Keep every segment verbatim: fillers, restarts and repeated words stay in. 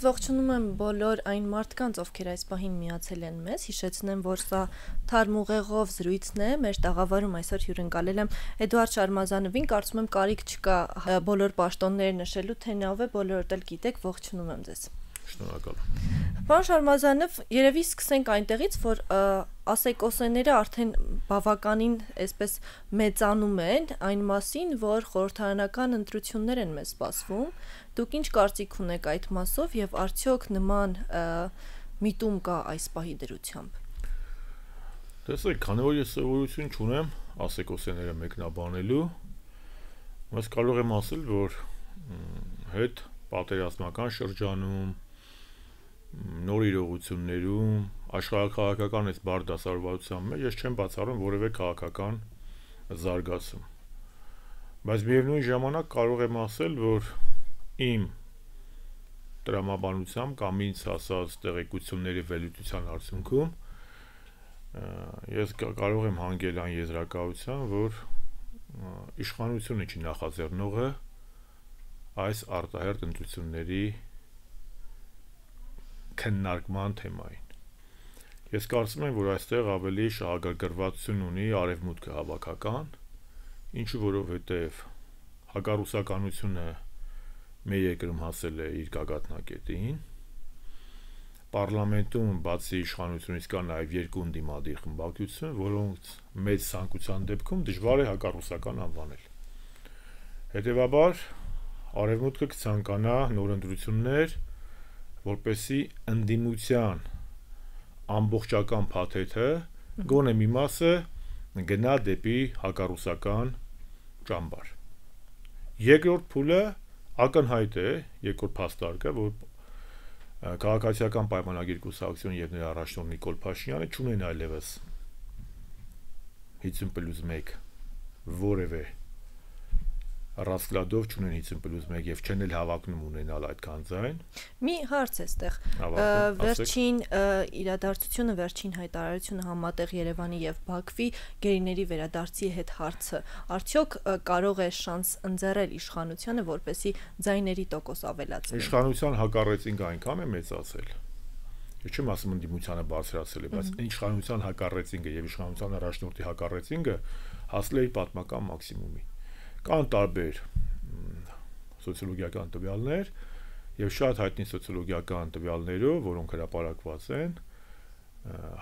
ողջունում եմ բոլոր այն մարդկանց, ովքեր այս պահին միացել են մեզ, հիշեցնեմ, որ սա թարմ ուղեղով զրույցն է, մեր տաղավարում այսօր հյուրընկալել եմ Էդուարդ Շարմազանովին, կարծում եմ կարիք չկա բոլոր պաշտոնները նշելու, թե նա ով է, բոլորդ էլ գիտեք, ողջունում եմ ձեզ։ Շնորհակալ։ Պարոն Շարմազանով, երևի սկսենք այնտեղից, որ ասեկոսեները արդեն բավականին այսպես մեծանում են այն մասին, որ խորհրդարանական ընտրություններ են մեզ սպասվում։ Դուք ինչ կարծիք ունեք այդ մասով եւ արդյոք նման միտում կա այս պահի դրությամբ։ Տեսեք, քանի որ ես սովորություն չունեմ ասեկոսեները մեկնաբանելու, ես կարող եմ ասել, որ հետ պատերազմական շրջանում նոր իրողություններում աշխարհաքաղաքական այս բարդ դասավորվածության մեջ ես չեմ բացառում որևէ քաղաքական զարգացում, բայց միևնույն ժամանակ կարող եմ ասել, որ իմ տրամաբանությամբ կամ ինձ հասած տեղեկությունների վերլուծության արդյունքում ես կարող եմ հանգել այն եզրակացության, որ իշխանությունը չի նախաձեռնողը այս արտահերթ ընտրությունների քննարկման թեմային։ Ես կարծում եմ, որ այստեղ ավելի շահագրգռվածություն ունի արևմուտքը հավաքական, ինչու որովհետև հակառուսականությունը մեր երկրում հասել է իր գագաթնակետին, պարլամենտում բացի իշխանությունից կա նաև երկու ընդդիմադիր խմբակցություն, որոնց մեծ ցանկության դեպքում դժվար է հակառուսական անվանել։ Հետևաբար արևմուտքը կցանկանա նոր ընտրություններ, որպեսզի ընդդիմության ամբողջական փաթեթը գոնե մի մասը գնա դեպի հակառուսական ճամբար։ Երկրորդ փուլը ակնհայտ է, երկրորդ փաստարկը, որ քաղաքացիական պայմանագիր կուսակցություն եւ նրա առաջնորդ Նիկոլ Փաշինյանը չունեն այլևս հինգ պլյուս մեկ որևէ ռասկլադով չունեն հինգ պլյուս մեկ եւ չեն էլ հավակնում ունենալ այդքան ձայն։ Մի հարց է այստեղ։ Վերջին իրադարձությունը, վերջին հայտարարությունը համատեղ Երևանի եւ Բաքվի գերիների վերադարձի հետ հարցը արդյոք կարող է շանս ընձեռել իշխանությանը, որպեսզի ձայների տոկոս ավելացնի։ Իշխանության հակառեցինք այնքան է մեծացել։ Ես չեմ ասում ընդդիմությանը բարձրացել է, բայց իշխանության հակառեցինքը եւ իշխանության առաջնորդի հակառեցինքը հասել է իր պատմական մաքսիմումի։ Կան տարբեր սոցիոլոգիական տվյալներ եւ շատ հայտնի սոցիոլոգիական տվյալներով, որոնք հրապարակված են,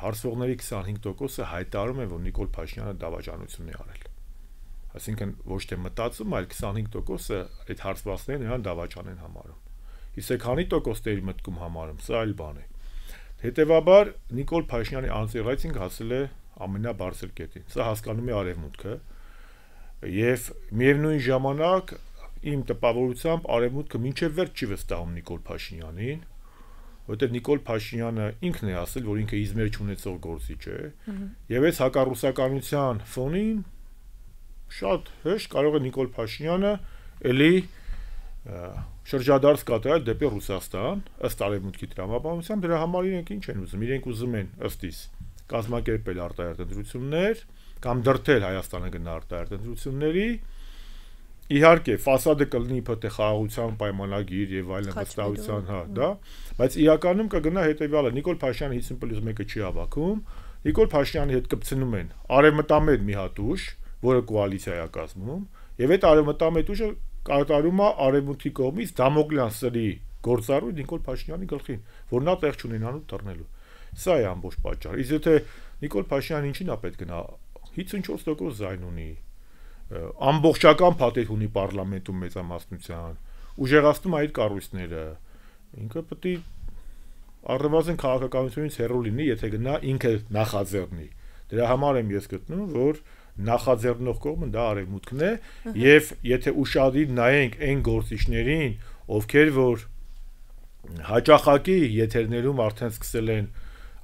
հարցողների քսանհինգ տոկոսը հայտարարում են, որ Նիկոլ Փաշինյանը դավաճանություն է արել։ Այսինքն ոչ թե մտածում, այլ քսանհինգ տոկոսը այդ հարցվածները նրան դավաճան են համարում։ Իսկ քանի տոկոս դեր մտքում համարում, սա այլ բան է։ Հետևաբար Նիկոլ Փաշինյանի անձեռայցինք հասել է ամենաբարձր կետին։ Սա հասկանում է արևմուտքը եւ միևնույն ժամանակ իմ տպավորությամբ արևմուտքը մինչեւ վերջ չի վստահում Նիկոլ Փաշինյանին, որտեղ Նիկոլ Փաշինյանը ինքն է ասել, որ ինքը իզմեր չունեցող գործիչ է, եւ այս հակառուսականության ֆոնին շատ հեշտ կարող է Նիկոլ Փաշինյանը ելի շրջադարձ կատարել դեպի Ռուսաստան, ըստ արևմուտքի տրամաբանության, դրա համար իրենք ինչ են ուզում, իրենք ուզում են ըստիս կազմակերպել արտահերթ ընտրություններ կամ դրդել Հայաստանը գնա արտահերթ ընտրությունների, իհարկե ֆասադը կլինի իբրե խաղաղության պայմանագիր եւ այլն վստահության, հա, դա, բայց իրականում կգնա հետեւյալը, Նիկոլ Փաշինյանը հինգ պլյուս մեկը չի հավաքում, Նիկոլ Փաշինյանի հետ կպցնում են արևմտամետ մի հատ ուժ, որը կոալիցիա է կազմում, եւ այդ արևմտամետ ուժը կատարում է արևմուտքի կողմից Դամոկլյան սրի գործառույթ Նիկոլ Փաշինյանի գլխին, որ նա տեղ չունենալու թռնելու։ Սա է ամբողջ պատճառը։ Իսկ եթե Նիկոլ Փաշինյանը ինչին է պետք գնա հինգ տոկոս ձայն ունի, ամբողջական փաթեթ ունի պարլամենտում մեծամասնության, ուժեղացնում այդ կառույցները, ինքը պետք է առնվազն քաղաքականությունից հեռու լինի, եթե գնա ինքը նախաձեռնի։ Դրա համար եմ ես գտնում, որ նախաձեռնող կողմը դա արևմուտքն է, եւ եթե ուշադիր նայենք այն գործիչներին, ովքեր որ հաճախակի եթերներում արդեն սկսել են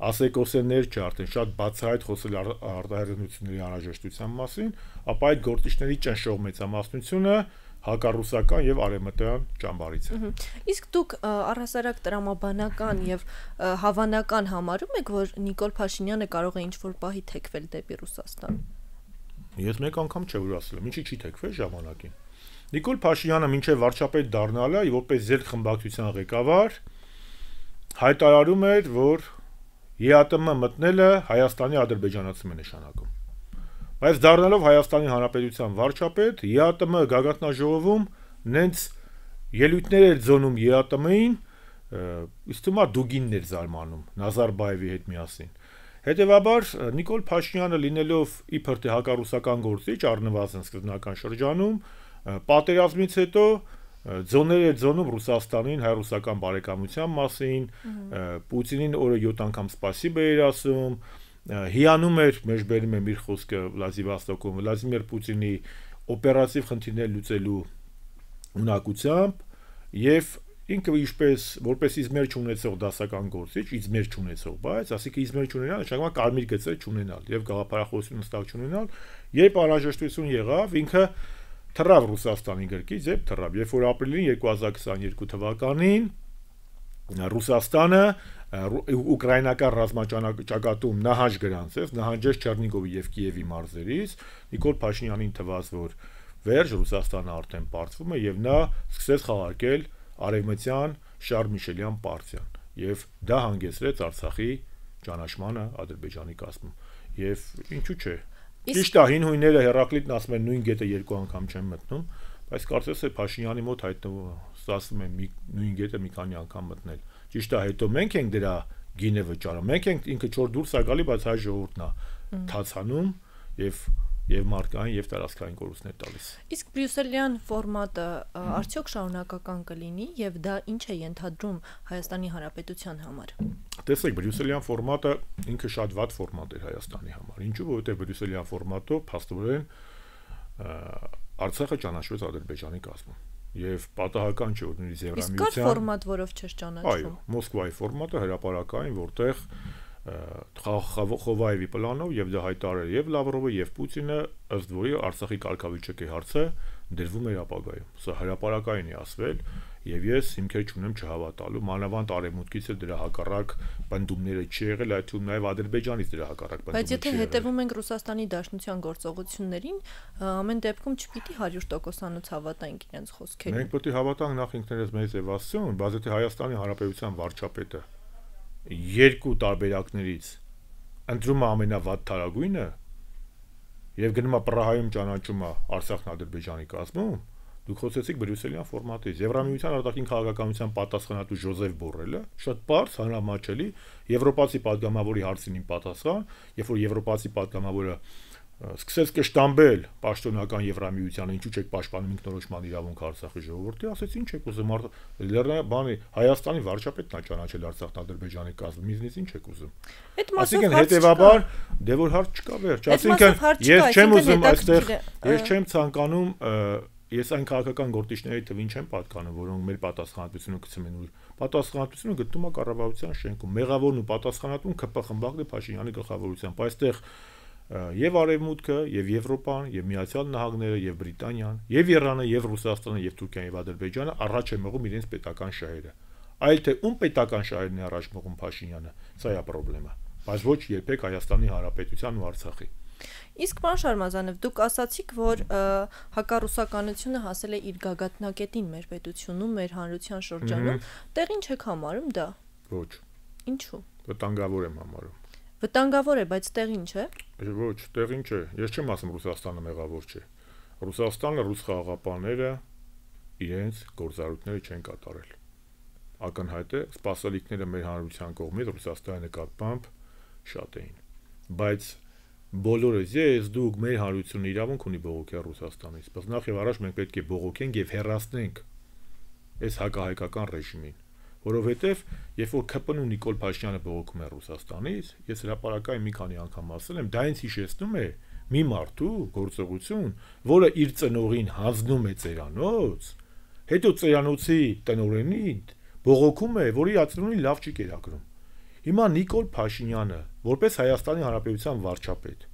ասեկոսեներ չէ, արդեն շատ բացահայտ խոսել արտահայտությունների անհրաժեշտության մասին, ապա այդ գործիչների ճնշող մեծամասնությունը հակառուսական եւ արևմտյան ճամբարից է։ Իսկ դուք առհասարակ տրամաբանական եւ հավանական համարում եք, որ Նիկոլ Փաշինյանը կարող է ինչ-որ պահի թեքվել դեպի Ռուսաստան։ Ես մեկ անգամ չէ որ ասել եմ, ինչի՞ չի թեքվել ժամանակին։ Նիկոլ Փաշինյանը մինչև վարչապետ դառնալը, որպես ձեր խմբակցության ղեկավար, հայտարարում էր, որ ԵԱՏՄ մտնելը Հայաստանի ադրբեջանացում է նշանակում։ Բայց դառնալով Հայաստանի Հանրապետության վարչապետ, ԵԱՏՄ գագաթնաժողովում նենց ելույթներ էր ձոնում ԵԱՏՄ-ին, իսկ թվում է դուգիններ զարմանում Նազարբաևի հետ միասին։ Հետևաբար Նիկոլ Փաշինյանը լինելով իբր թե հակառուսական գործիչ առնվազն սկզբնական շրջանում, պատերազմից հետո ձոներ էր ձոնում Ռուսաստանին հայ-ռուսական բարեկամության մասին, Պուտինին օրը յոթ անգամ սպասիբա էր ասում, հիանում էր, մեջբերում եմ իր խոսքը Վլադիվոստոկում, Վլադիմիր Պուտինի օպերատիվ խնդիրներ լուծելու ունակությամբ եւ ինքը ինչպես որպես իզմեր չունեցող դասական գործիչ, իզմեր չունեցող, բայց ասիկա իզմեր չունենալ, նշանակում է կարմիր գծեր չունենալ եւ գաղափարախոսություն հստակ չունենալ, երբ անհրաժեշտություն եղավ, ինքը թռավ Ռուսաստանի գրկից եւ թռավ, երբ որ ապրիլին երկու հազար քսաներկու թվականին Ռուսաստանը ուկրաինական ռազմաճակատում նահանջ գրանցեց, նահանջեց Չեռնիգովի եւ Կիևի մարզերից, Նիկոլ Փաշինյանին թվաց, որ վերջ Ռուսաստանը արդեն պարտվում է եւ նա սկսեց խաղարկել արևմտյան Շարլ Միշելյան պարտիան եւ դա հանգեցրեց Արցախի ճանաչմանը Ադրբեջանի կազմում եւ ինչու՞ չէ ճիշտ է հին հույները Հերակլիտն ասում են նույն գետը երկու անգամ չեն մտնում բայց կարծես է Փաշինյանի մոտ հայտնվում ասում են նույն գետը մի քանի անգամ մտնել ճիշտ է հետո մենք ենք դրա գինը վճարում մենք ենք ինքը չոր դուրս է գալի բայց հայ ժողովուրդն է թացանում եւ եւ մարկային եւ տարածքային կորուստներ տալիս։ Իսկ բրյուսելյան ֆորմատը արդյոք շարունակական կլինի եւ դա ինչ է ենթադրում Հայաստանի Հանրապետության համար։ Տեսեք, բրյուսելյան ֆորմատը ինքը շատ վատ ֆորմատ էր Հայաստանի համար։ Ինչու՞, որովհետեւ բրյուսելյան ֆորմատով փաստորեն Արցախը ճանաչվեց Ադրբեջանի կազմում։ Եվ պատահական չէ, որ նույնիսկ Եվրամիության Իսկ կար ֆորմատ, որով չէր ճանաչվում։ Այո, Մոսկվայի ֆորմատը հրապարակային, որտեղ Խովայևի պլանով եւ դա հայտարարել եւ Լավրովը եւ Պուտինը ըստ որի Արցախի կարգավիճակի հարցը դրվում էր ապագայում։ Սա հրապարակային է ասվել եւ ես հիմքեր չունեմ չհավատալու, մանավանդ արևմուտքից է դրա հակառակ բնդումները չի եղել, այդ թվում նաեւ Ադրբեջանից դրա հակառակ բնդումներ չի եղել։ Բայց եթե հետևում ենք Ռուսաստանի Դաշնության գործողություններին, ամեն դեպքում չպիտի հարյուր տոկոսանոց հավատանք իրենց խոսքերին։ Մենք պետք է հավատանք նախ ինքներս մեզ եւ Աստծուն, բայց եթե Հայաստանի Հանրապետության վարչապետը երկու տարբերակներից ընտրում է ամենավատ թարագույնը եւ գնում է Պրահայում ճանաչում է Արցախն Ադրբեջանի կազմում, դուք խոսեցիք բրյուսելյան ֆորմատից։ Եվրամիության արտաքին քաղաքականության պատասխանատու Ժոզեֆ Բորելը շատ բարձ հանրամատչելի եվրոպացի падգամավորի հարցին պատասխան, երբ որ եվրոպացի падգամավորը սկսեց կշտամբել պաշտոնական Եվրամիությանը, ինչու՞ չեք պաշտպանում ինքնորոշման իրավունքը Արցախի ժողովրդի, ասեց ինչ եք ուզում, բանի Հայաստանի վարչապետն է ճանաչել Արցախն Ադրբեջանի կազմում, ինձնից ինչ եք ուզում։ Այսինքն հետեւաբար դե որ հարց չկա վերջ, այսինքն ես չեմ ուզում այստեղ, ես չեմ ցանկանում, ես այն քաղաքական գործիչների թվին չեմ պատկանում, որոնք մեր պատասխանատվությունը գցում են, պատասխանատվությունը գտնում է կառավարության շենքում, մեղավորն ու պատասխանատուն ԿՊ խմբակն է Փաշինյանի գլխավորությամբ, այստեղ եւ Արևմուտքը, եւ Եվրոպան, եւ Միացյալ Նահանգները, եւ Բրիտանիան, եւ Իրանը, եւ Ռուսաստանը, եւ Թուրքիան եւ Ադրբեջանը առաջ են մղում իրենց պետական շահերը։ Այլ թե ում պետական շահերն է առաջ մղում Փաշինյանը, սա է խնդրեմը, բայց ոչ երբեք Հայաստանի Հանրապետության ու Արցախի։ Իսկ պարոն Շարմազանով, դուք ասացիք, որ հակառուսականությունը հասել է իր գագաթնակետին մեր պետությունում, մեր հանրության շրջանում, տեղին չեք համարում դա։ Ոչ։ Ինչու։ Վտանգավոր եմ համարում։ Վտանգավոր է, բայց տեղին չէ։ Ոչ, տեղին չէ։ Ես չեմ ասում Ռուսաստանը մեղավոր չէ։ Ռուսաստանը, ռուս խաղաղապահները իրենց գործառույթները չեն կատարել։ Ակնհայտ է, սպասելիքները մեր հանրության կողմից Ռուսաստանի նկատմամբ շատ էին։ Բայց բոլորս ես դուք մեր հանրությունը իրավունք ունի բողոքել Ռուսաստանից, բայց նախ եւ առաջ մենք պետք է բողոքենք եւ հեռացնենք այս հակահայկական ռեժիմին, որովհետեւ երբ որ ՔՊՆ-ն Նիկոլ Փաշինյանը բողոքում է Ռուսաստանից, ես հրապարակային մի քանի անգամ ասել եմ, դա ինձ հիշեցնում է մի մարդու գործողություն, որը իր ծնողին հանձնում է ծերանոց, հետո ծերանոցի տնօրենին բողոքում է, որի ածնունին լավ չի կերակրում։ Հիմա Նիկոլ Փաշինյանը, որպես Հայաստանի Հանրապետության վարչապետ,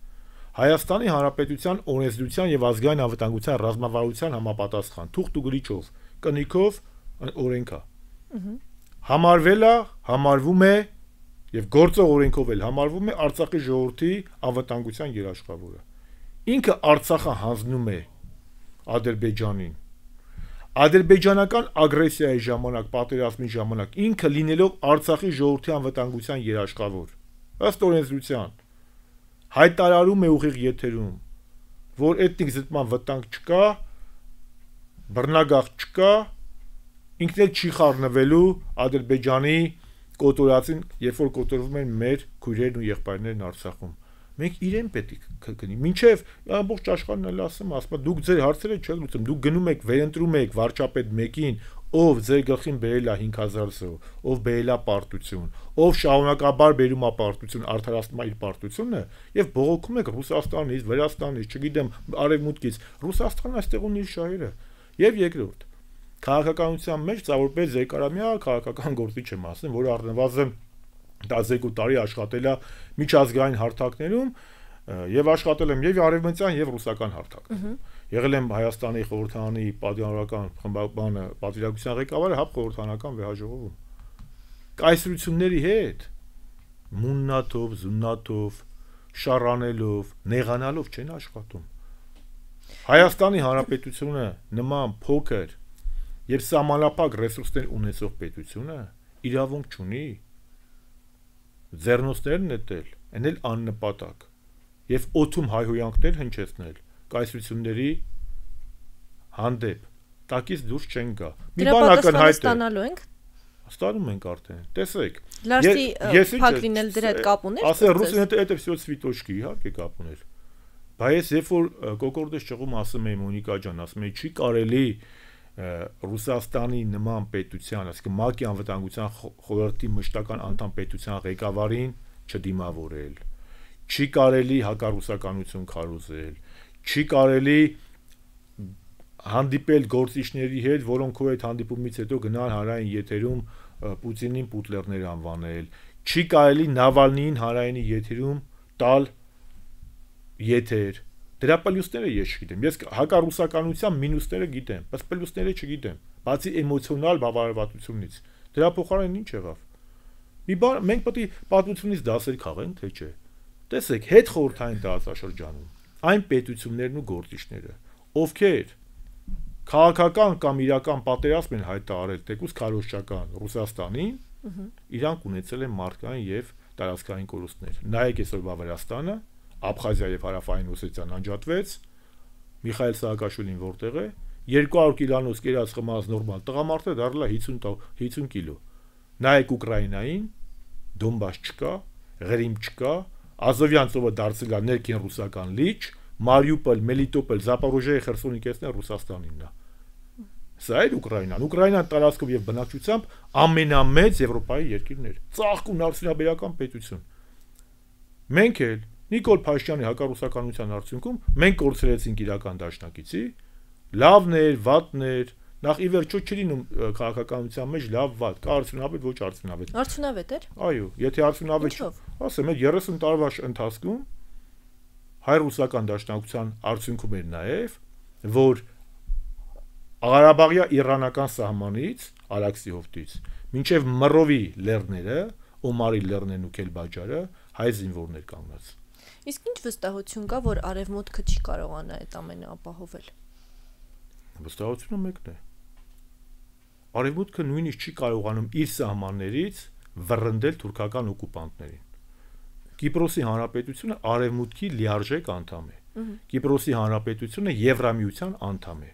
Հայաստանի Հանրապետության օրենսդրության եւ ազգային անվտանգության ռազմավարության համապատասխան թուղթ ու գրիչով, կնիքով օրենքա։ Համարվել է, համարվում է եւ գործող օրենքով էլ համարվում է Արցախի ժողովրդի անվտանգության երաշխավորը։ Ինքը Արցախը հանձնում է Ադրբեջանին։ ադրբեջանական ագրեսիայի ժամանակ, պատերազմի ժամանակ ինքը լինելով Արցախի ժողովրդի անվտանգության երաշխավոր, ըստ օրենսդրության, հայտարարում է ուղիղ եթերում, որ էթնիկ զտման վտանգ չկա, բռնագաղթ չկա, ինքն էլ չի խառնվելու Ադրբեջանի կոտորածին, երբ որ կոտորվում են մեր քույրերն ու եղբայրներն Արցախում։ Մենք իրեն պետք է գնի։ Մինչև ամբողջ աշխարհն էլ ասում, ասում դուք ձեր հարցերը չեք լուծում, դուք գնում եք վերընտրում եք վարչապետ մեկին, ով ձեր գլխին բերել է հինգ հազար զոհ, ով բերել է պարտություն, ով շարունակաբար բերում է պարտություն, արդարացնում է իր պարտությունը եւ բողոքում եք Ռուսաստանից, Վրաստանից, չգիտեմ, Արևմուտքից, Ռուսաստանն այստեղ ունի իր շահերը։ Եվ երկրորդ, քաղաքականության մեջ ծավալպես երկարամյա քաղաքական գործիչ եմ ասում, որ առնվազն տասներկու տարի աշխատել է միջազգային հարթակներում եւ աշխատել եմ եւ արևմտյան եւ ռուսական հարթակներում։ Եղել եմ Հայաստանի խորհրդարանի պատգամավորական խմբականը պատվիրակության ղեկավարը հապ խորհրդարանական վեհաժողովում։ Կայսրությունների հետ մուննաթով, զուննաթով, շառանելով, նեղանալով չեն աշխատում։ Հայաստանի Հանրապետությունը նման փոքր եւ սահմանափակ ռեսուրսներ ունեցող պետությունը իրավունք չունի ձեռնոցներ նետել, այն էլ աննպատակ եւ օթում հայհոյանքներ հնչեցնել կայսրությունների հանդեպ տակից դուրս չեն գա։ Մի բան ակնհայտ է ստանալու ենք ստանում ենք արդեն տեսեք լարսի փակ լինել դրա հետ կապ ուներ ասել ռուսին հետ это всё цветочки իհարկե կապ ուներ բայց երբ որ կոկորդես ճղում ասում էի Մոնիկա ջան ասում էի չի կարելի Ռուսաստանի նման պետության, այսինքն ՄԱԿ-ի անվտանգության խորհրդի մշտական անդամ պետության ղեկավարին չդիմավորել, չի կարելի հակառուսականություն քարոզել, չի կարելի հանդիպել գործիչների հետ, որոնք քո այդ հանդիպումից հետո գնան հանրային եթերում Պուտինին պուտլերներ անվանել, չի կարելի Նավալնիին հանրային եթերում տալ եթեր Դրա պլյուսները ես չգիտեմ։ Ես հակառուսականության մինուսները գիտեմ, բայց պլյուսները չգիտեմ, բացի էմոցիոնալ բավարարվածությունից։ Դրա փոխարեն ինչ եղավ։ Մի բան մենք պետք է պատմությունից դասեր քաղենք, թե չէ։ Տեսեք, հետ խորհրդային տարածաշրջանում այն պետություններն ու գործիչները, ովքեր քաղաքական կամ իրական պատերազմ են հայտարարել թեկուզ քարոզչական Ռուսաստանին, իրանք ունեցել են մարդկային եւ տարածքային կորուստներ։ Նայեք այսօրվա Վրաստանը, Աբխազիա եւ Հարավային Օսետիան անջատվեց, Միխայել Սահակաշվիլին որտեղ է, երկու հարյուր կիլոնոց կերած խմած նորմալ տղամարդը դառել է հինգ կիլո։ Նայեք Ուկրաինային, Դոնբաս չկա, Ղրիմ չկա, Ազովյան ծովը դարձել է ներքին ռուսական լիճ, Մարիուպոլ, Մելիտոպոլ, Զապորոժիայի Խերսոնի կեսն է Ռուսաստանինն է։ Սա է Ուկրաինան։ Ուկրաինան տարածքով եւ բնակչությամբ ամենամեծ Եվրոպայի երկիրն էր։ Ծաղկուն արդյունաբերական պետություն։ Մենք էլ Նիկոլ Փաշինյանի հակառուսականության արդյունքում մենք կորցրեցինք իրական դաշնակիցի, լավներ, վատներ, նախ ի վերջո չի լինում քաղաքականության մեջ լավ վատ, կա արդյունավետ, ոչ արդյունավետ։ Արդյունավետ էր։ Այո, եթե արդյունավետ, ասեմ, այդ երեսուն տարվա ընթացքում հայ-ռուսական դաշնակցության արդյունքում էր նաև, որ Ղարաբաղյա իրանական սահմանից, Արաքսի հովտից, մինչև Մռովի լեռները, Օմարի լեռներն ու Քելբաջարը հայ զինվորներ կանգնած։ Իսկ ինչ վստահություն կա, որ Արևմուտքը չի կարողանա այդ ամենը ապահովել։ Վստահությունը մեկն է։ Արևմուտքը նույնիսկ չի կարողանում իր սահմաններից վռնդել թուրքական օկուպանտներին։ Կիպրոսի հանրապետությունը Արևմուտքի լիարժեք անդամ է։ Կիպրոսի հանրապետությունը Եվրամիության անդամ է։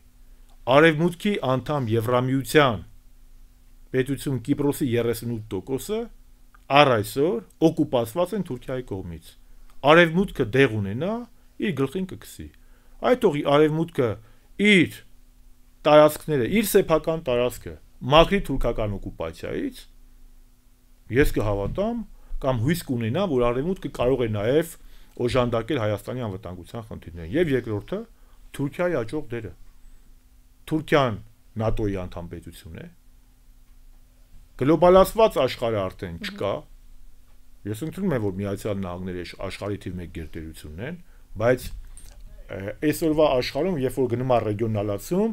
Արևմուտքի անդամ Եվրամիության պետություն Կիպրոսի երեսունութ տոկոսը առ այսօր օկուպացված են Թուրքիայի կողմից։ Արևմուտքը դեղ ունենա, իր գլխին կգցի։ Այդ օղի Արևմուտքը իր տարածքները, իր սեփական տարածքը մաքրի թուրքական օկուպացիայից, ես կհավատամ կամ հույս կունենամ, որ Արևմուտքը կարող է նաև օժանդակել Հայաստանի անվտանգության խնդիրները։ Եվ երկրորդը Թուրքիայի աճող դերը։ Թուրքիան ՆԱՏՕ-ի անդամ պետություն է։ Գլոբալացված աշխարհը արդեն չկա։ Ես ընդունում եմ, որ Միացյալ Նահանգները աշխարհի թիվ մեկ գերտերությունն են, բայց այսօրվա աշխարհում, երբ որ գնում է ռեգիոնալացում,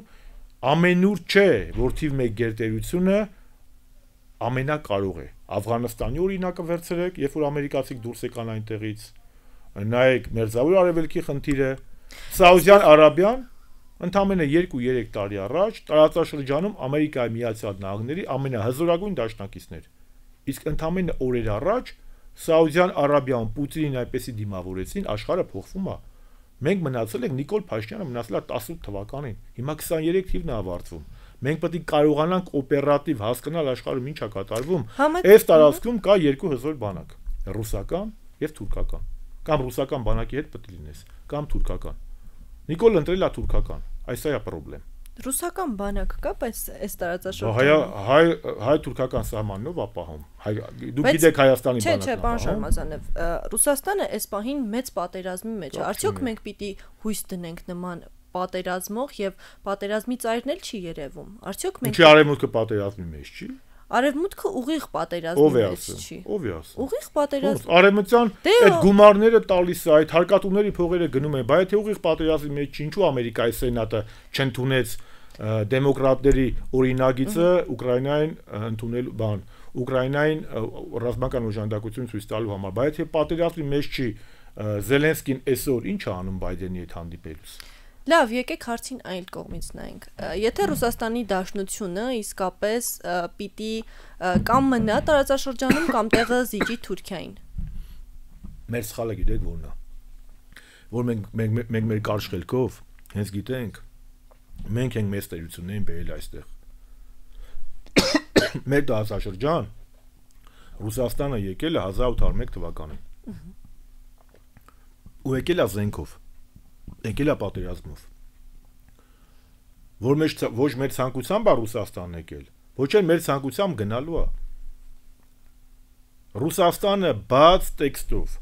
ամենուր չէ, որ թիվ մեկ գերտերությունը ամենակարող է։ Աֆղանստանի օրինակը վերցրեք, երբ որ ամերիկացիք դուրս եկան այնտեղից, նայեք Մերձավոր Արևելքի խնդիրը, Սաուդյան Արաբիան Ընդամենը երկու երեք տարի առաջ տարածաշրջանում Ամերիկայի Միացյալ Նահանգների ամենահզորագույն դաշնակիցներ։ Իսկ ընդամենը օրեր առաջ Սաուդյան Արաբիայում Պուտինին այնպեսի դիմավորեցին, աշխարհը փոխվում է։ Մենք մնացել ենք Նիկոլ Փաշինյանը մնացել է տասնութ թվականին։ Հիմա քսաներեք թիվն է ավարտվում։ Մենք պետք է կարողանանք օպերատիվ հասկանալ աշխարհում ինչ է կատարվում։ Այս տարածքում կա երկու հզոր բանակ՝ ռուսական եւ թուրքական։ Կամ ռուսական բանակի հետ պետք է լինես, կամ թուրքական։ Նիկոլ ընտրել է թուրքական։ Այս է խնդրեմ։ Ռուսական բանակ կա, բայց այս տարածաշրջանում հայ հայ հայ-թուրքական սահմանով ապահում։ Հայ դուք գիտեք Հայաստանի բանակը։ Չէ, չէ, պարոն Շարմազանov, Ռուսաստանը այս պահին մեծ պատերազմի մեջ է։ Արդյոք մենք պիտի հույս դնենք նման պատերազմող եւ պատերազմի ծայրն էլ չի երևում։ Արդյոք մենք Ինչի արևմուտքը պատերազմի մեջ չի։ Արևմուտքը ուղիղ պատերազմի մեջ չի։ Ով է ասում։ Ուղիղ պատերազմ։ Արևմտյան այդ գումարները տալիս է, այդ հարկատուների փողերը գնում են, բայց թե ուղիղ պատերազմի մեջ չի, ինչու Ամերիկայի սենատը չընդունեց դեմոկրատների օրինագիծը Ուկրաինային ընդունել բան, Ուկրաինային ռազմական օժանդակություն ցույց տալու համար, բայց թե պատերազմի մեջ չի, Զելենսկին այսօր ինչ է անում Բայդենի հետ հանդիպելուց։ Լավ, եկեք հարցին այլ կողմից նայենք։ Եթե Ռուսաստանի Դաշնությունը իսկապես պիտի կամ մնա տարածաշրջանում կամ տեղը զիջի Թուրքիային։ Մեր սխալը գիտեք որն է։ Որ մենք մենք մեր կարճ խելքով հենց գիտենք, մենք ենք մեծ տերություններին բերել այստեղ։ Մեր տարածաշրջան Ռուսաստանը եկել է հազար ութ հարյուր մեկ թվականին։ Ու եկել է զենքով։ Եկել է պատերազմով։ Որ մեջ ոչ մեր ցանկությամբ է Ռուսաստանն եկել, ոչ էլ մեր ցանկությամբ գնալու է։ Ռուսաստանը բաց տեքստով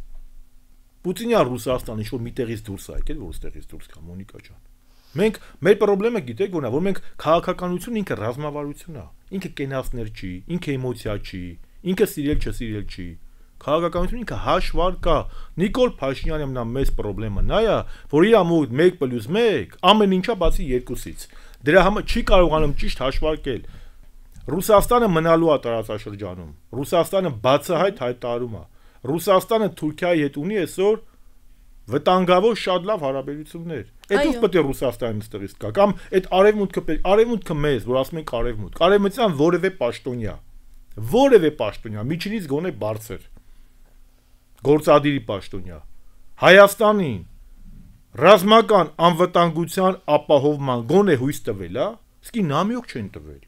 Պուտինյան Ռուսաստանը ինչ որ միտեղից դուրս է եկել, որ ստեղից դուրս գա Մոնիկա ջան։ Մենք մեր խնդրումը գիտեք որն է, որ մենք քաղաքականություն ինքը ռազմավարություն է, ինքը կենացներ չի, ինքը էմոցիա չի, ինքը սիրել չսիրել չի։ Քաղաքականություն ինքը հաշվար կա։ Նիկոլ Փաշինյանի ամենամեծ խնդրումը նա է, որ իր ամոթ մեկ պլյուս մեկ ամեն ինչա բացի երկուսից։ Դրա համար չի կարողանում ճիշտ հաշվարկել։ Ռուսաստանը մնալու է տարածաշրջանում։ Ռուսաստանը բացահայտ հայտարարում է։ Ռուսաստանը Թուրքիայի հետ ունի այսօր վտանգավոր շատ լավ հարաբերություններ։ Այդ ով պետք է Ռուսաստանից ստեղից կա կամ այդ արևմուտքը արևմուտքը մեզ, որ ասում ենք արևմուտք, արևմտյան որևէ պաշտոնյա, որևէ պաշտոնյա, միջինից գոնե բարձր գործադիրի պաշտոնյա Հայաստանին ռազմական անվտանգության ապահովման գոնե հույս տվել է, իսկի նամյոք չեն տվել։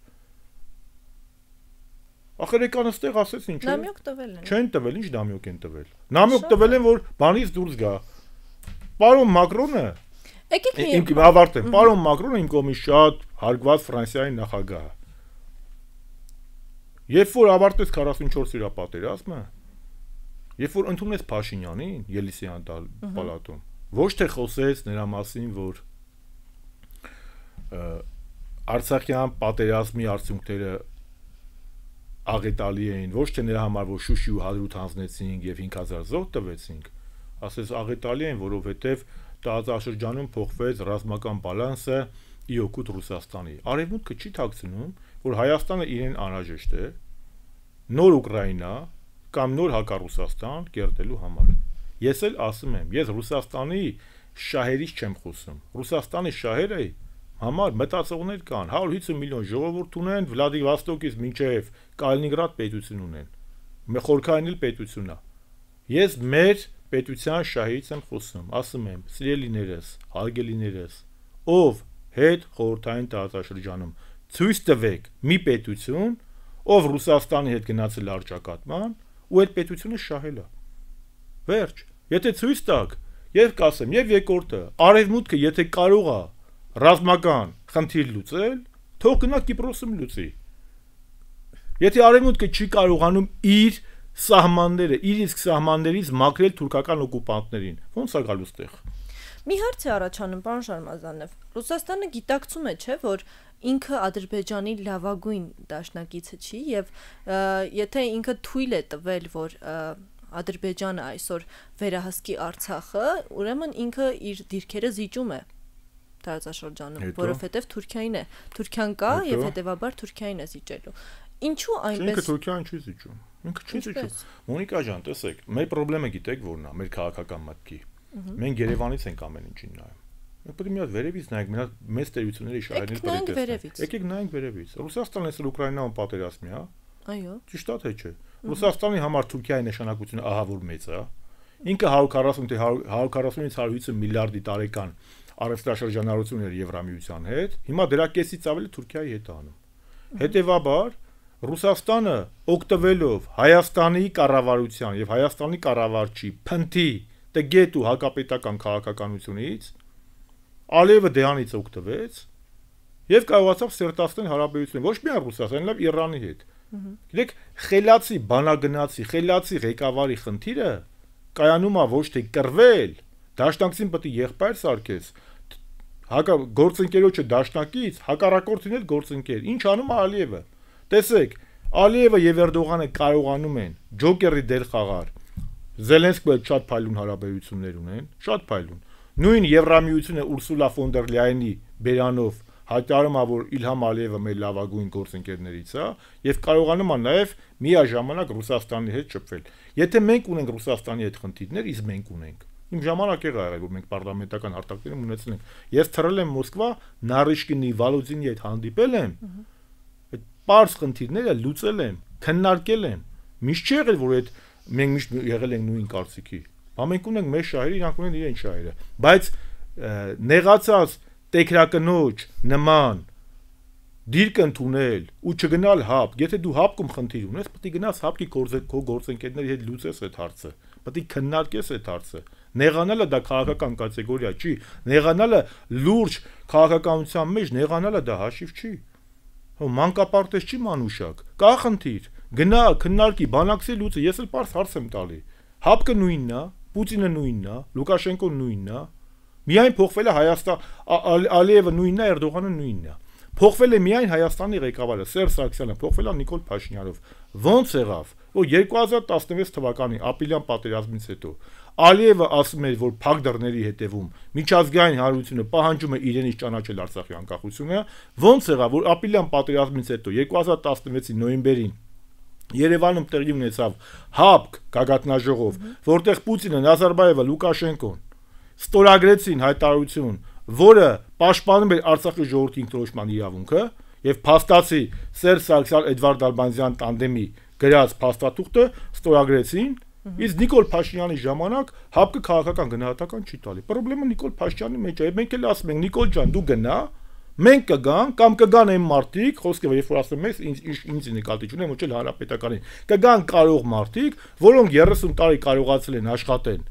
Ախր եկան այստեղ ասեց ինչ է։ Նամյոք տվել են։ Չեն տվել, ինչ նամյոք են տվել։ Նամյոք տվել են, որ բանից դուրս գա։ Պարոն Մակրոնը, եկեք մի իմ ավարտեմ, պարոն Մակրոնը իմ կողմից շատ հարգված Ֆրանսիայի նախագահ է։ Երբ որ ավարտեց քառասունչորս իրա պատերազմը, երբ որ ընդունեց Փաշինյանին Ելիսեյան պալատում, ոչ թե խոսեց նրա մասին, որ Արցախյան պատերազմի արդյունքները աղետալի էին, ոչ թե նրա համար, որ Շուշի ու Հադրութ հանձնեցինք եւ հինգ հազար զոհ տվեցինք, ասես աղետալի են, որովհետեւ տարածաշրջանում փոխվեց ռազմական բալանսը ի օգուտ Ռուսաստանի։ Արևմուտքը չի ཐակցնում, որ Հայաստանը իրեն անհրաժեշտ է նոր Ուկրաինա կամ նոր հակառուսաստան կերտելու համար։ Ես էլ ասում եմ, ես Ռուսաստանի շահերից չեմ խոսում։ Ռուսաստանի շահերը համար մտածողներ կան, հարյուր հիսուն միլիոն ժողովուրդ ունեն, Վլադիվոստոկից մինչև Կալինինգրադ պետություն ունեն։ Խորքային էլ պետություն է։ Ես մեր պետության շահից եմ խոսում, ասում եմ, սիրելիներս, հարգելիներս, ով հետ խորհրդային տարածաշրջանում ցույց տվեք մի պետություն, ով Ռուսաստանի հետ գնացել արճակատման, ու այդ պետությունը շահել է։ Վերջ, եթե ցույց տաք, եւ կասեմ, եւ երկրորդը, արևմուտքը եթե կարող է ռազմական խնդիր լուծել, թող գնա Կիպրոսում լուծի։ Եթե արևմուտքը չի կարողանում իր սահմանները, իր իսկ սահմաններից մաքրել թուրքական օկուպանտներին, ո՞նց է գալու ստեղ։ Մի հարց է առաջանում, պարոն Շարմազանով։ Ռուսաստանը գիտակցում է, չէ, որ ինքը Ադրբեջանի լավագույն դաշնակիցը չի եւ եթե ինքը թույլ է տվել, որ Ադրբեջանը այսօր վերահսկի Արցախը, ուրեմն ինքը իր դիրքերը զիջում է տարածաշրջանում, որովհետեւ Թուրքիային է, Թուրքիան կա եւ հետեւաբար Թուրքիային է զիջելու։ Ինչու այնպես։ Ինքը Թուրքիան չի զիջում։ Ինքը չի զիջում։ Մոնիկա ջան, տեսեք, մեր խնդրումը գիտեք որն է, մեր քաղաքական մտքի։ Մենք Երևանից ենք ամեն ինչին նայում։ Պետք է մի հատ վերևից նայենք, մի հատ մեծ տերությունների շահերից պետք է։ Եկեք նայենք վերևից։ Ռուսաստանն էս Ուկրաինայում պատերազմի, հա։ Այո։ Ճիշտ է թե չէ։ Ռուսաստանի համար Թուրքիայի նշանակությունը ահա որ մեծ է։ Ինքը one forty թե one forty-ից one fifty միլիարդի տարեկան առևտրաշրջանառություն էր Եվրամիության հետ, հիմա դրա կեսից ավելի Թուրքիայի հետ է անում։ Հետևաբար Ռուսաստանը օգտվելով Հայաստանի կառավարության եւ Հայաստանի կառավարչի փնթի, տգետ ու հակապետական քաղաքականությունից Ալիևը դրանից օգտվեց եւ կարողացավ սերտացնել հարաբերությունները ոչ միայն Ռուսաստանի, այլև Իրանի հետ։ Գիտեք, խելացի բանագնացի, խելացի ղեկավարի խնդիրը կայանում է ոչ թե կռվել, դաշնակցին պետք է եղբայր սարքես, հակա գործընկերոջը դաշնակից, հակառակորդին էլ գործընկեր։ Ինչ անում է Ալիևը։ Տեսեք, Ալիևը եւ Էրդողանը կարողանում են ջոկերի դեր խաղալ։ Զելենսկու հետ շատ փայլուն հարաբերություններ ունեն, շատ փայլուն։ Նույն Եվրամիությունը Ուրսուլա ֆոն դեր Լայենի բերանով հայտարարում է, որ Իլհամ Ալիևը մեր լավագույն գործընկերներից է եւ կարողանում է նաեւ միաժամանակ Ռուսաստանի հետ շփվել։ Եթե մենք ունենք Ռուսաստանի հետ խնդիրներ, իսկ մենք ունենք։ Իմ ժամանակ եղա եղել, որ մենք պարլամենտական հարտակներում ունեցել ենք։ Ես թռել եմ Մոսկվա, Նարիշկինի, Վալոդինի հետ հանդիպել եմ։ Այդ պարզ խնդիրները լուծել եմ, քննարկել եմ։ Միշտ չի եղել, որ այդ մենք միշտ եղել ենք նույն կարծիքի։ Բա մենք ունենք մեր շահերը, իրանք ունեն իրենց շահերը։ Բայց նեղացած տեքրակնոջ նման դիրք ընդունել ու չգնալ հապ, եթե դու հապկում խնդիր ունես, պետք է գնաս հապկի քո գործընկերների հետ լուծես այդ հարցը, պետք է քննարկես այդ հարցը։ Նեղանալը դա քաղաքական կատեգորիա չի, նեղանալը լուրջ քաղաքականության մեջ նեղանալը դա հաշիվ չի։ Հո մանկապարտեզ չի մանուշակ, կա խնդիր, գնա քննարկի, բանակցի լուծի, ես էլ պարզ հարց եմ տալի։ Հապկը նույնն է, Պուտինը նույնն է, Լուկաշենկոն նույնն է։ Միայն փոխվել է Հայաստան, Ալիևը նույնն է, Էրդողանը նույնն է։ Փոխվել է միայն Հայաստանի ղեկավարը Սերժ Սարգսյանը, փոխվել է Նիկոլ Փաշինյանով։ Ոնց եղավ, որ two thousand twelve թվականի ապրիլյան պատերազմից հետո Ալիևը ասում էր, որ փակ դռների հետևում միջազգային հանրությունը պահանջում է իրենից ճանաչել Արցախի անկախությունը, ոնց եղավ, որ ապրիլյան պատերազմից հետո two thousand twelve-ի նոյեմբերին Երևանում տեղի ունեցավ հապկ գագաթնաժողով, որտեղ Պուտինը, Նազարբաևը, Լուկաշենկոն ստորագրեցին հայտարարություն, որը պաշտպանում էր Արցախի ժողովրդի ինքնորոշման իրավունքը եւ փաստացի Սերժ Սարգսյան Էդվարդ Ալբանյան տանդեմի գրած փաստաթուղթը ստորագրեցին, իսկ Նիկոլ Փաշինյանի ժամանակ հապկը քաղաքական գնահատական չի տալի։ Պրոբլեմը Նիկոլ Փաշինյանի մեջ է, մենք էլ ասում ենք Նիկոլ ջան, դու գնա, մենք կգանք կամ կգան այն մարդիկ, խոսքը երբ որ ասում ես, ինձ ինձ նկատի չունեմ, ոչ էլ հանրապետականին, կգան կարող մարդիկ, որոնք thirty տարի կարողացել են աշխատեն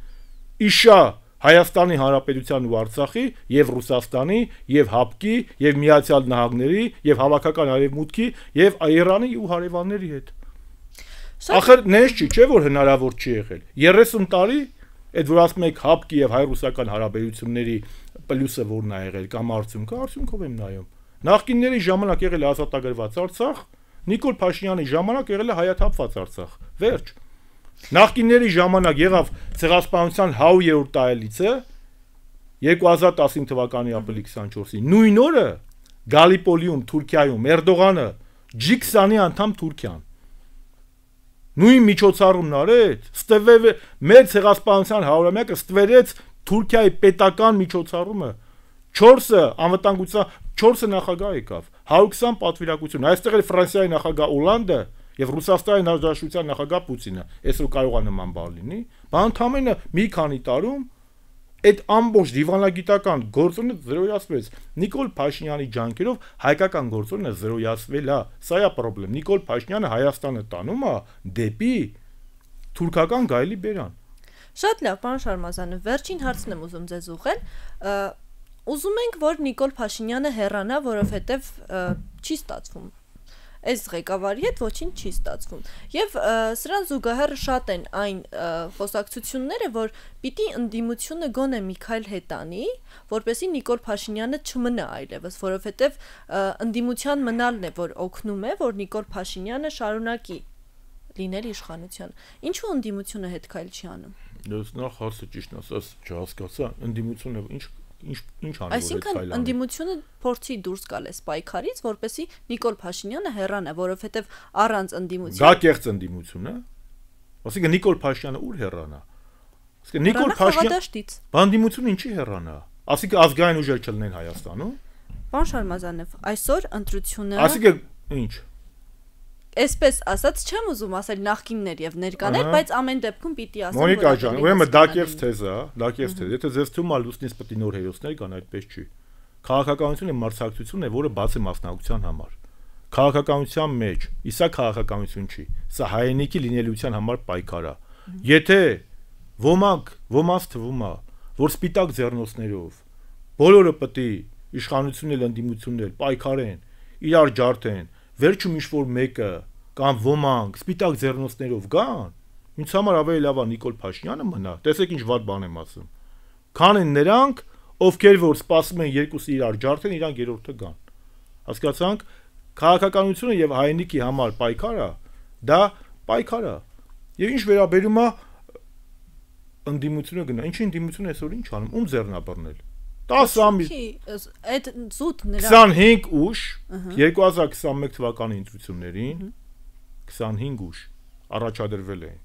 իշա Հայաստանի Հանրապետության ու Արցախի եւ Ռուսաստանի եւ հապկի եւ Միացյալ Նահանգների եւ հավաքական արևմուտքի եւ Իրանի ու հարևանների հետ։ Ախր նես չի, չէ՞ որ հնարավոր չի եղել։ thirty տարի այդ որ ասում եք հապկի եւ հայ-ռուսական հարաբերությունների պլյուսը որն է եղել կամ արդյունքը, արդյունքով եմ նայում։ Նախկինների ժամանակ եղել է ազատագրված Արցախ, Նիկոլ Փաշինյանի ժամանակ եղել է հայաթափված Արցախ։ Վերջ։ Նախկինների ժամանակ եղավ ցեղասպանության one hundred տարելիցը two thousand ten թվականի ապրիլի twenty-four-ին։ Նույն օրը Գալիպոլիում, Թուրքիայում Էրդողանը G twenty անդամ Թուրքիան։ Նույն միջոցառումն արեց, ստվեր մեր ցեղասպանության հարյուրամյակը ստվերեց Թուրքիայի պետական միջոցառումը four-ը անվտանգության four-ը նախագահ եկավ one hundred twenty պատվիրակություն այստեղ էլ Ֆրանսիայի նախագահ Օլանդը եւ Ռուսաստանի Հանրապետության նախագահ Պուտինը այսօր կարող է նման բան լինի բան ընդամենը մի քանի տարում այդ ամբողջ դիվանագիտական գործոնը զրոյացվեց Նիկոլ Փաշինյանի ջանքերով հայկական գործոնը զրոյացվել է սա է խնդրեմ Նիկոլ Փաշինյանը Հայաստանը տանում է դեպի թուրքական գայլի բերան։ Շատ լավ, պարոն Շարմազանov, վերջին հարցն եմ ուզում ձեզ ուղղել։ Ուզում ենք, որ Նիկոլ Փաշինյանը հեռանա, որովհետև չի ստացվում։ Այս ղեկավարի հետ ոչինչ չի ստացվում։ Եվ սրան զուգահեռ շատ են այն խոսակցությունները, որ պիտի ընդդիմությունը գոնե Միքայել Հետանի, որպեսզի Նիկոլ Փաշինյանը չմնա այլևս, որովհետև ընդդիմության մնալն է, որ օգնում է, որ Նիկոլ Փաշինյանը շարունակի լինել իշխանության։ Ինչու ընդդիմությունը հետ քայլ չի անում։ Ես նախ հարցը ճիշտ ասած չհասկացա, ընդդիմությունը ինչ ինչ ինչ անում է։ Այսինքն ընդդիմությունը փորձի դուրս գալ է պայքարից, որպեսզի Նիկոլ Փաշինյանը հեռանա, որովհետև առանց ընդդիմության դա կեղծ ընդդիմություն է։ Ասիկա Նիկոլ Փաշինյանը ուր հեռանա։ Ասիկա Նիկոլ Փաշինյանը բանդիմությունը ինչի հեռանա։ Այսինքն ազգային ուժեր չլինեն Հայաստանում։ Պարոն Շարմազանով, այսօր ընտրությունը Այսինքն ինչ։ Այսպես ասած, չեմ ուզում ասել նախկիններ եւ ներկաներ, բայց ամեն դեպքում պիտի ասեմ։ Մոնիկա ջան, ուրեմն դա կերս թեզ է, դա կերս թեզ։ Եթե ձեզ թվում է լուսնից պետք է նոր հերոսներ կան, այդպես չի։ Քաղաքականությունը մրցակցությունն է, որը բաց է մասնակցության համար։ Քաղաքականության մեջ, իսա քաղաքականություն չի, սա հայրենիքի լինելիության համար պայքար է։ Եթե ոմանք, ոմանց թվում է, որ սպիտակ ձեռնոցներով բոլորը պետք է իշխանությունն էլ ընդդիմությունն էլ պայքարեն, իրար ջարդեն, վերջում ինչ-որ մեկը կամ ոմանք սպիտակ ձեռնոցներով գան, ինձ համար ավելի լավ է Նիկոլ Փաշինյանը մնա, տեսեք ինչ վատ բան եմ ասում, քան են նրանք, ովքեր որ սպասում են երկուսը իրար ջարդեն, իրանք երրորդը գան։ Հասկացանք, քաղաքականությունը եւ հայրենիքի համար պայքարը, դա պայքար է։ Եվ ինչ վերաբերում է ընդդիմությունը գնա, ինչի ընդդիմությունը այսօր ինչ անում, ում ձեռնաբռնել։ տասը ամիս այդ զուտ նրա քսանհինգ ուժ երկու հազար քսանմեկ թվականի ընտրություններին քսանհինգ ուժ առաջադրվել էին։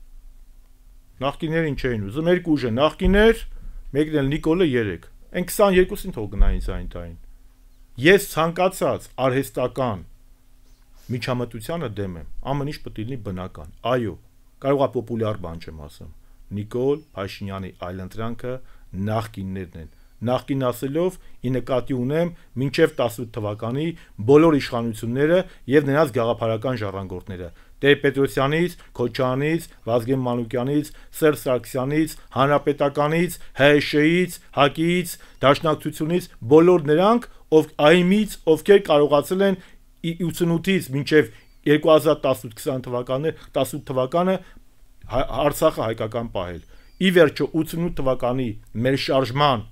Նախկիներին չէին ուզում, երկու ուժ են նախկիներ, մեկն էլ Նիկոլը երեք։ Այն քսաներկուսին թող գնային ցայն տային։ Ես ցանկացած արհեստական միջամտությանը դեմ եմ։ Ամեն ինչ պետք է լինի բնական։ Այո, կարող է պոպուլյար բան չեմ ասում։ Նիկոլ Փաշինյանի այլընտրանքը նախկիններն են։ Նախկին ասելով ի նկատի ունեմ մինչև տասնութ թվականի բոլոր իշխանությունները եւ նրանց գաղափարական ժառանգորդները Տեր-Պետրոսյանից, Քոչարյանից, Վազգեն Մանուկյանից, Սերժ Սարգսյանից, Հանրապետականից, ՀՀՇ-ից, ՀԱԿ-ից, Դաշնակցությունից բոլոր նրանք, ով այմից, ովքեր կարողացել են ութսունութից մինչև երկու հազար տասնութ քսան թվականներ, տասնութ թվականը Արցախը հայկական պահել։ Ի վերջո ութսունութ թվականի մեր շարժման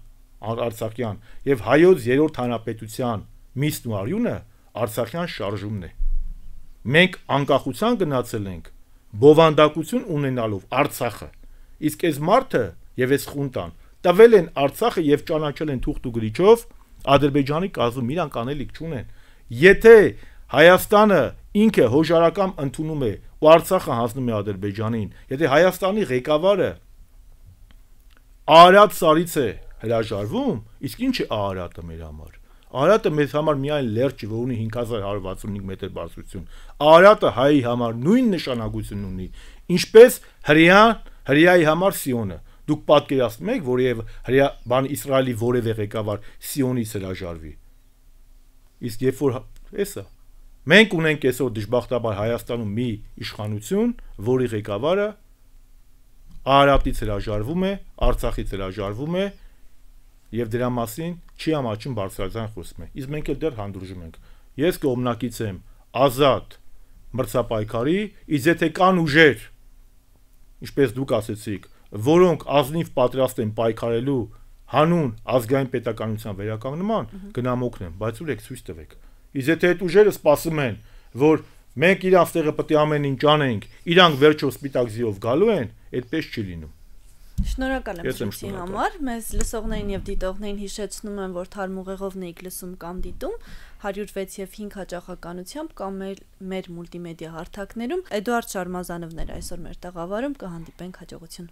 Արցախյան եւ հայոց երրորդ հանրապետության միսն ու արյունը Արցախյան շարժումն է։ Մենք անկախության գնացել ենք բովանդակություն ունենալով Արցախը։ Իսկ այս մարդը եւ այս խունտան տվել են Արցախը եւ ճանաչել են թուղթ ու գրիչով Ադրբեջանի կազմում, իրանք անելիք չունեն։ Եթե Հայաստանը ինքը հոժարակամ ընդունում է ու Արցախը հանձնում է Ադրբեջանին, եթե Հայաստանի ղեկավարը Արարատ սարից է հրաժարվում, իսկ ինչ է Արարատը մեր համար։ Արարատը մեզ համար միայն լերկ չի, որ ունի հինգ հազար հարյուր վաթսունհինգ մետր բարձրություն։ Արարատը հայի համար նույն նշանակություն ունի, ինչպես հրեան հրեայի համար Սիոնը։ Դուք պատկերացնում եք, որ եւ հրեա բան Իսրայելի որևէ ղեկավար Սիոնից հրաժարվի։ Իսկ երբ որ էսա մենք ունենք այսօր դժբախտաբար Հայաստանում մի իշխանություն, որի ղեկավարը Արարատից հրաժարվում է, Արցախից հրաժարվում է եւ դրա մասին չի ամաչում բարձրաձայն խոսում է։ Իսկ մենք էլ դեռ հանդուրժում ենք։ Ես կողմնակից եմ ազատ մրցապայքարի, իսկ եթե կան ուժեր, ինչպես դուք ասեցիք, որոնք ազնիվ պատրաստ են պայքարելու հանուն ազգային պետականության վերականգնման, գնամ օգնեմ, բայց ուրեք ցույց տվեք։ Իսկ եթե այդ ուժերը սպասում են, որ մենք իրանց տեղը պետք է ամեն ինչ անենք, իրանք վերջո սպիտակ ձիով գալու են, այդպես չի լինում։ Շնորհակալ եմ ցույցի համար։ Մեզ լսողներին եւ դիտողներին հիշեցնում եմ, որ թարմուղեղովն եք լսում կամ դիտում հարյուր վեց եւ հինգ հաճախականությամբ կամ մեր, մեր մուլտիմեդիա հարթակներում։ Էդուարդ Շարմազանովն էր այսօր մեր տաղավարում, կհանդիպենք հաջողություն։